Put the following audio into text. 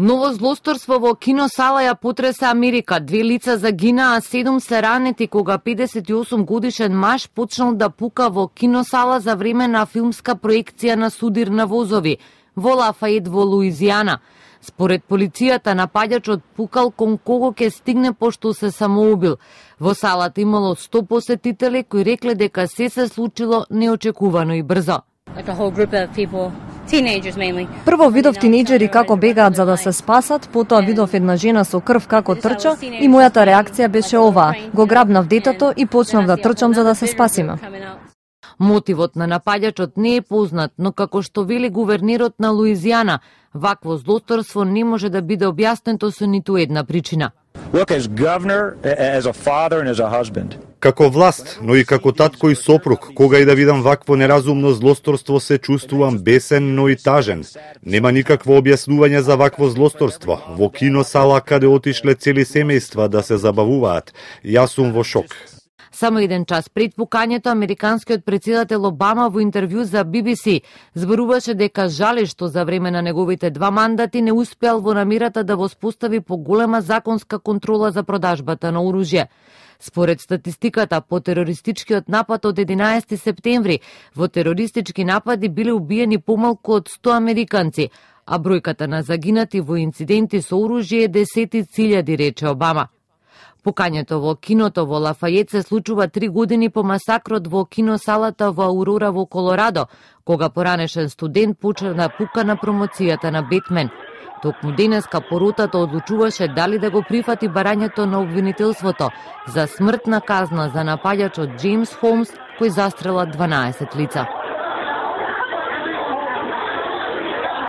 Ново злосторство во киносала ја потреса Америка. 2 лица загинаа, а 7 се ранети кога 58 годишен маж почнал да пука во киносала за време на филмска проекција на Судир на возови во Лафает во Луизијана. Според полицијата, напаѓачот пукал кон кого ќе стигне пошто се самоубил. Во салата имало 100 посетители кои рекле дека се случило неочекувано и брзо. Прво видов тинејџери како бегаат за да се спасат, потоа видов една жена со крв како трча и мојата реакција беше оваа. Го грабнав детето и почнав да трчам за да се спасиме. Мотивот на напаѓачот не е познат, но како што вели гувернерот на Луизијана, вакво злосторство не може да биде објаснето со ниту една причина. Како власт, но и како татко и сопруг, кога и да видам вакво неразумно злосторство се чувствувам бесен, но и тажен. Нема никакво објаснување за вакво злосторство. Во киносала каде отишле цели семејства да се забавуваат. Јас сум во шок. Само еден час пред пукањето, американскиот претседател Обама во интервју за BBC зборуваше дека жали што за време на неговите 2 мандати не успеал во намерата да воспостави поголема законска контрола за продажбата на оружје. Според статистиката по терористичкиот напад од 11 септември, во терористички напади биле убиени помалку од 100 американци, а бројката на загинати во инциденти со оружје е 10.000, рече Обама. Пукањето во киното во Лафајет се случува 3 години по масакрот во киносалата во Аурора во Колорадо, кога поранешен студент почна да пука на промоцијата на Бетмен. Токму денеска поротата одлучуваше дали да го прифати барањето на обвинителството за смртна казна за напаѓачот Джеймс Холмс, кој застрела 12 лица.